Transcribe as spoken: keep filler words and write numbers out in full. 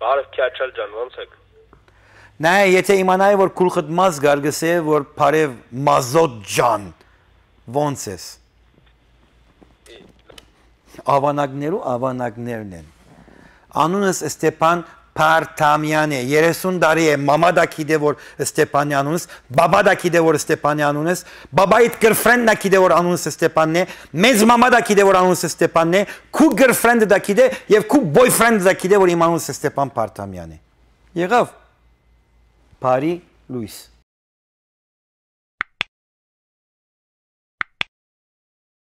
Բարև Քյաչալ ջան, ո՞նց եք։ Նայ, եթե իմանայի, որ գլուխդ մազ գար գսե, որ բարև Մազոտ ջան, ո՞նց ես։ Ավանակներու ավանակներն են։ Անունս Ստեփան Փարտամյան է, երեսուն տարի է, մամա դա գիտե որ Ստեփանի անունս, բաբա դա գիտե որ Ստեփանի անունս, բաբայիդ girlfriend դա գիտե որ անունս Ստեփանն է, մեծ մամա դա գիտե որ անունս Ստեփանն է, քու girlfriend դա գիտե եւ քու boyfriend դա գիտե որ իմ անունս Ստեփան Փարտամյան է։ Եղավ։ Բարի լույս։